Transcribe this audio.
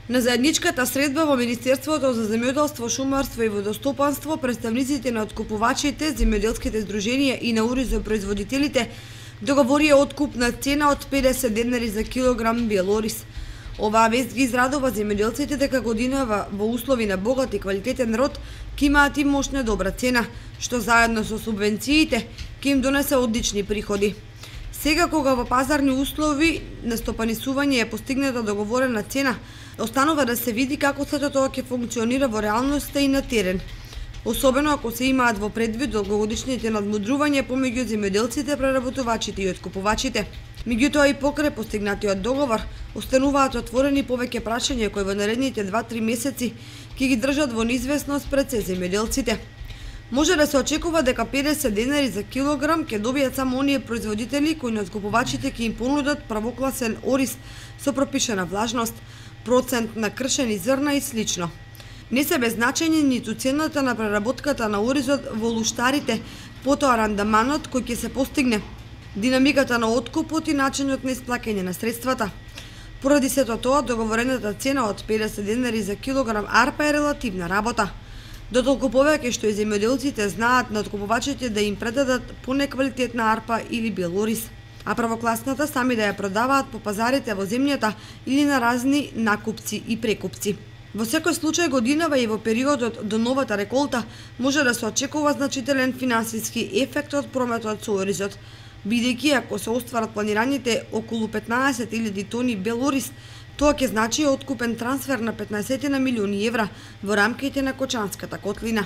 На заедничката средба во Министерството за земјоделство, шумарство и водостопанство, представниците на откупувачите, земјоделските здруженија и на уризопроизводителите договорија откупна цена од 50 денари за килограм бел ориз. Оваа вест ги израдува земјоделците дека годинава во услови на богат и квалитетен род ќе имаат и мощна добра цена, што заедно со субвенциите ќе им донесе одлични приходи. Сега кога во пазарни услови на стопанисување е постигната договорена цена, останува да се види како сето тоа ќе функционира во реалноста и на терен. Особено ако се имаат во предвид долгогодишните надмудрувања помеѓу земјоделците, преработувачите и откупувачите. Меѓутоа и покрај постигнатиот договор, остануваат отворени повеќе прашања кои во наредните 2-3 месеци ќе ги држат во неизвестност пред се земјоделците. Може да се очекува дека 50 денари за килограм ќе добијат само оние производители кои на откупувачите ќе им понудат првокласен ориз со пропишана влажност, процент на кршени зрна и слично. Не се без значење ниту цената на преработката на оризот во луштарите, потоа рандаманот кој ќе се постигне, динамиката на откупот и начинот на исплаќање на средствата. Поради сето тоа, договорената цена од 50 денари за килограм арпа е релативна работа. Дотолку повеќе што и земјоделците знаат на откупувачите да им предадат понеквалитетна арпа или бел ориз, а првокласната сами да ја продаваат по пазарите во земјата или на разни накупци и прекупци. Во секој случај годинава и во периодот до новата реколта може да се очекува значителен финансиски ефект од прометот со оризот, бидејќи ако се остварат планираните околу 15.000 тони бел ориз, тоа ќе значи откупен трансфер на 15 милиони евра во рамките на Кочанската котлина.